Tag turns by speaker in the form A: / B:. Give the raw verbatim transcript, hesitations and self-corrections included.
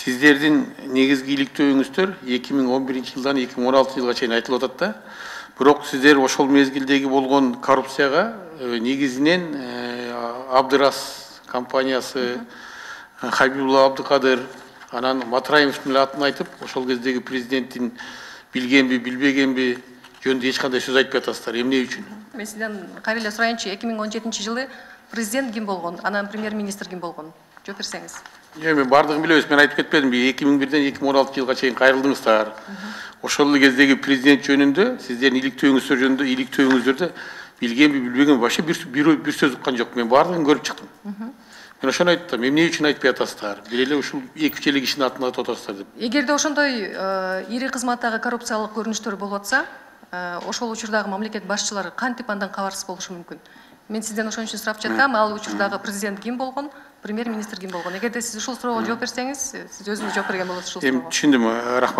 A: Сиздердин негизги иликтөөңүздөр эки миң он биринчи жылдан эки миң он алтынчы жылга чейин айтылып атат да. Бирок сиздер ошол мезгилдеги болгон коррупцияга негизинен Абдырас компаниясы, Хабибулла Абдыкадыр, анан Матраимовдун атын айтып, ошол кездеги президенттин билгенби, билбегенби жөнүндө эч кандай сөз айтпай атасыздар. Эмне үчүн?
B: Мен сизден кайра эле сурайынчы, эки миң он жетинчи жылы президент ким болгон, анан премьер-министр ким болгон? Жооп берсеңиз.
A: Жок, мен бардыгын билебиз, мен айтып кетпедимби? эки миң бирден эки миң он алтынчы жылга чейин кайрылдыңыздар. Ошол кездеги президент жөнүндө, сиздердин иликтөөңүздөр жөнүндө, иликтөөңүздөрдө билгенби, билбегенби вообще бир бир сөз уккан жок. Мен бардыгын көрүп чыктым. Мен ошону айттым, эмне үчүн айтпай атасыздар? Бир эле ушул эки үч эле кишинин атын атап атасыздар деп.
B: Эгерде ошондой ири кызматтагы коррупциялык көрүнүштөр болуп атса, ошол учурдагы мамлекет башчылары кантип андан кабарсыз болушу мүмкүн? Мен сизден ошон үчүн сурап жатам, ал учурдагы президент ким болгон, премьер-министр ким болгон? Эгерде сиз ушул суроого жооп берсеңиз, сиз өзүңүз жооп берген болосуз ушул суроого.
A: Эми түшүндүм, рахмат.